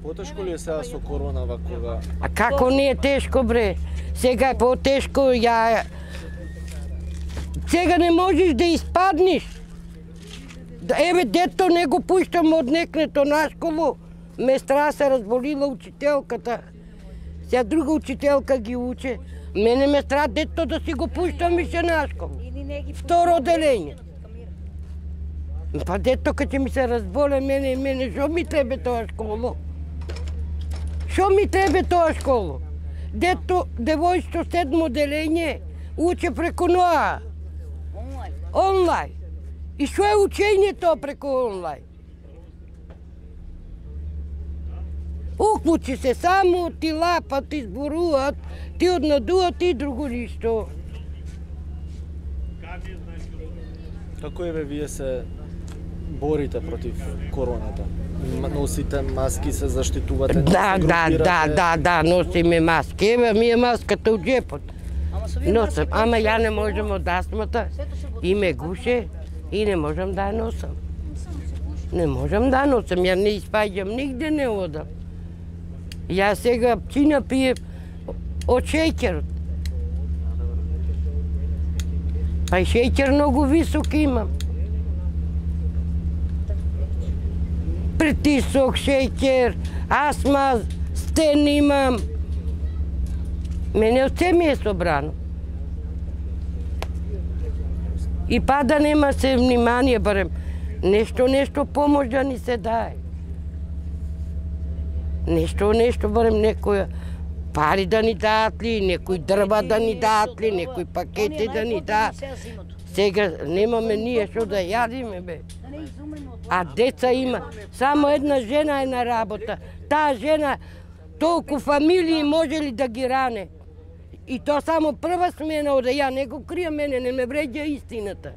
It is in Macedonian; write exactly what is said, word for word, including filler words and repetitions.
Потешко ли е сега со корона вакога? А како не е тешко, бре? Сега е потешко, ја... Сега не можеш да испаднеш. Еве, дето не го пуштам од некнето на школу. Местра се разболила учителката. Сега друга учителка ги уче. Мене ме стра дето да си го пуштам више на школу. Второ оделение. Па дето кога ми се разболе мене и мене, шо ми требе тоа школу? Шо ми требе тоа школу? Дето девојчето седмо оделение уче преку ноа. Онлайн. И шо е учењето преку онлайн? Уклучи се само, ти лапат, ти зборуваат, ти однадуваат и друго ништо. Како еве вие се борите против короната? Носите маски, се заштитувате? Да, да, да, да, да, носиме маски. Еве ми е маската од джепот. Носам, ама ја не можам од астмата и ме гуше и не можам да ја носам. Не можам да ја носам, ја не испаѓам, нигде не одам. Ја сега пчина пијем од шеќерот. Па и шеќер многу висок имам. Притисок, шеќер, астма, стен имам. Мене од се ми е собрано. И па да нема се внимание, барем нешто, нешто помош да ни се даде. Нешто, нешто, барем некоја пари да ни дадат ли, некој дрва да ни дадат ли, некој пакети да ни дадат. Сега немаме ние што да јадиме, бе. А деца има. Само една жена е на работа. Таа жена толку фамилии може ли да ги ране? И тоа само прва смена оде, ја не го кријам, мене не ме вреѓа истината.